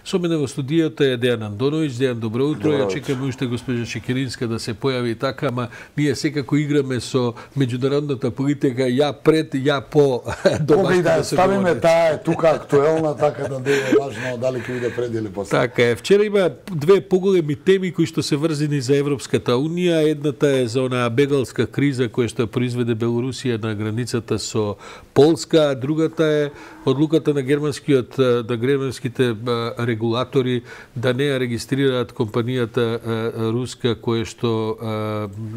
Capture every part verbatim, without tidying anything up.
Со мене во студијата е Дејан Андоновиќ. Дејан, добро утро. Добро Ја чекаме уште госпожа Шекеринска да се појави така, ама ние секако играме со меѓународната политика, ја пред, ја по домашно да, да се ставиме говори. таа е тука актуелна, така да не е важно дали ќе биде пред или после. Така е. Вчера има две поголеми теми кои што се врзани за Европската унија. Едната е за онаа бегалска криза која што произведе Белорусија на границата со Полска, а другата е одлуката на германскиот на германските регулатори да не ја регистрираат компанијата руска која што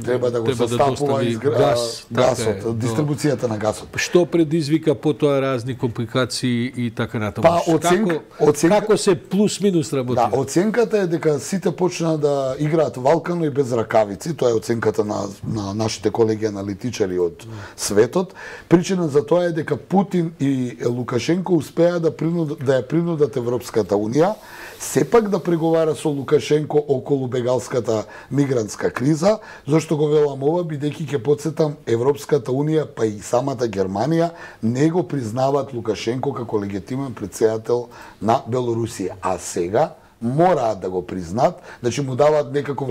треба да го треба да застапува достави изгр... газ, гасот, така е, дистрибуцијата на гасот. Што предизвика потоа разни компликации и така натаму. Па, оценка, како, оценка... како се плюс минус работи? Да, оценката е дека сите почна да играат валкано и без ракавици. Тоа е оценката на, на нашите колеги аналитичари од светот. Причина за тоа е дека Путин и Лукашенко успеа да принуд, да ја принудат Европската унија сепак да преговара со Лукашенко околу бегалската мигрантска криза. Зошто го велам ова, бидејќи ќе потсетам, Европската унија па и самата Германија не го признаваат Лукашенко како легитимен претседател на Белорусија. А сега мораат да го признаат, значи му даваат некаков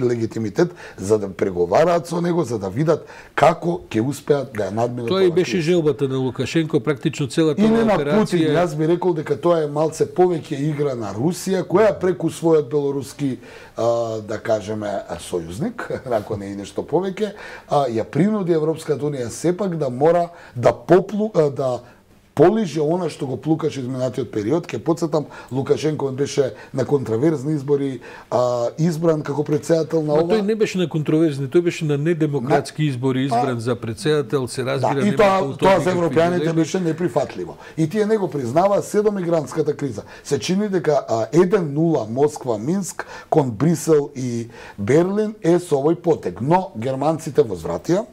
легитимитет за да преговараат со него, за да видат како ќе успеат да ја надминат. Тоа и беше желбата на Лукашенко, практично целата и не на операција. Путин, јас би рекол дека тоа е малце повеќе игра на Русија, која преку својот белоруски, а, да кажеме, сојузник, ако не и нешто повеќе, а, ја принуди Европската унија сепак да мора да поплу, а, да полиже она што го плукаше изминатиот период. Ке подсетам, Лукашенко беше на контраверзни избори а, избран како председател на ова. Но тој не беше на контроверзни, тој беше на недемократски избори избран а, за председател, се разбира. Да, и тоа, тоа за европјаните беше неприфатливо. И тие не го признава се до мигрантската криза. Се чини дека еден нула Москва, Минск кон Брисел и Берлин е со овој потек. Но германците возвратија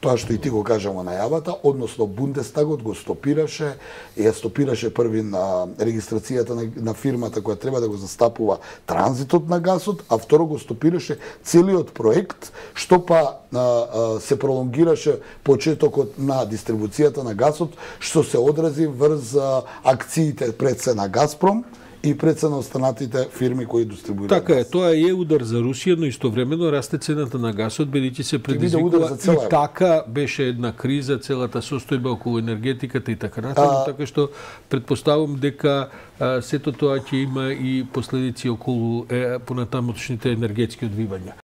тоа што и ти го кажа во најавата, односно Бундестагот го стопираше, ја стопираше први на регистрацијата на, на фирмата која треба да го застапува транзитот на гасот, а второ го стопираше целиот проект, што па а, а, се пролонгираше почетокот на дистрибуцијата на гасот, што се одрази врз а, акциите пред се на Газпром и пред се на останатите фирми кои дистрибуираат. Така е, тоа е удар за Русија, но истовремено расте цената на гасот, бидејќи се предизвикува и така беше една криза, целата состојба околу енергетиката и така натаму, така што претпоставувам дека а, сето тоа ќе има и последици околу е, понатамошните енергетски одвивања.